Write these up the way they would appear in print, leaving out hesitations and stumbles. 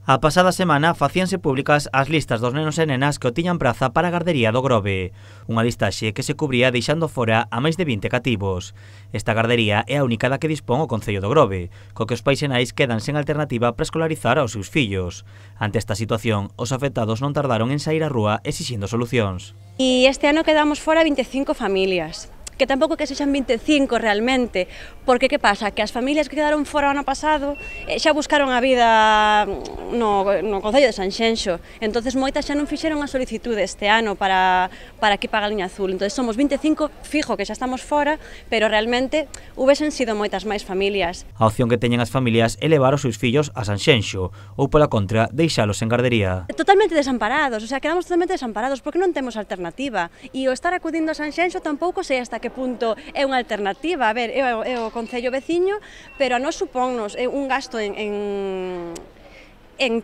A pasada semana facíanse públicas as listas dos nenos e nenas que o tiñan praza para a gardería do Grove, unha listaxe que se cubría deixando fora a máis de 20 cativos. Esta gardería é a única da que dispón o Concello do Grove, co que os pais e nais quedan sen alternativa para escolarizar aos seus fillos. Ante esta situación, os afectados non tardaron en saír á rúa exixindo solucións. E este ano quedamos fora 25 familias. Que tampouco que sexan 25 realmente, porque que pasa? Que as familias que quedaron fora o ano pasado xa buscaron a vida no Concello de Sanxenxo, entonces moitas xa non fixeron a solicitude este ano para aquí para a Galiña Azul, entonces somos 25 fijo que xa estamos fora, pero realmente hubesen sido moitas máis familias. A opción que teñen as familias é levar os seus fillos a Sanxenxo, ou pola contra, deixalos en gardería. Totalmente desamparados, o sea, quedamos totalmente desamparados porque non temos alternativa, e o estar acudindo a Sanxenxo tampouco sei hasta que punto é unha alternativa. A ver, é o concello veciño, pero a nós supónnos un gasto en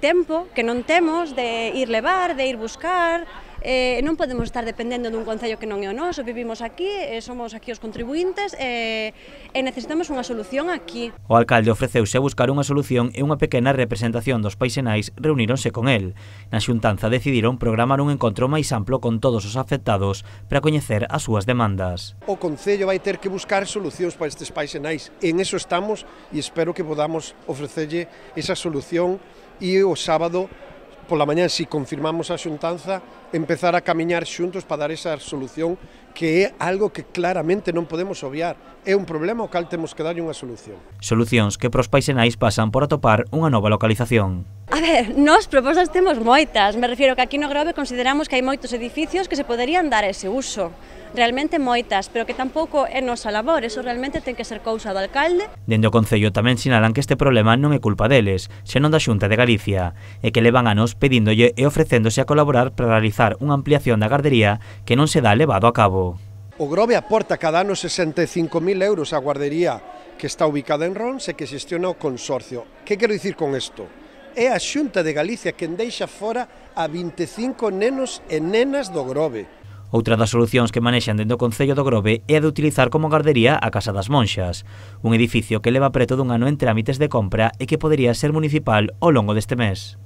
tempo que non temos de ir levar, de ir buscar. Non podemos estar dependendo dun concello que non é o noso, vivimos aquí, somos aquí os contribuintes e necesitamos unha solución aquí. O alcalde ofreceuse a buscar unha solución e unha pequena representación dos pais e nais reuníronse con el. Na xuntanza decidiron programar un encontro máis amplo con todos os afectados para coñecer as súas demandas. O concello vai ter que buscar solucións para estes pais e nais. En eso estamos e espero que podamos ofrecerlle esa solución e o sábado pola mañá, se confirmamos a xuntanza, empezar a camiñar xuntos para dar esa solución que é algo que claramente non podemos obviar. É un problema ao cal temos que darlle unha solución. Solucións que pros pais e nais pasan por atopar unha nova localización. A ver, nós propostas temos moitas, me refiero que aquí no Grove consideramos que hai moitos edificios que se poderían dar ese uso. Realmente moitas, pero que tampouco é nosa labor, eso realmente ten que ser cousa do alcalde. Dende o Concello tamén sinalan que este problema non é culpa deles, senón da Xunta de Galicia, e que levan anos pedíndolle e ofrecéndose a colaborar para realizar unha ampliación da gardería que non se dá levado a cabo. O Grove aporta cada ano 65.000 euros á guardería que está ubicada en Rons e que xestiona o consorcio. Que quero dicir con isto? É a Xunta de Galicia quen deixa fora a 25 nenos e nenas do Grove. Outra das solucións que manexan dentro do Concello do Grove é a de utilizar como gardería a Casa das Monxas, un edificio que leva preto dun ano en trámites de compra e que podería ser municipal ao longo deste mes.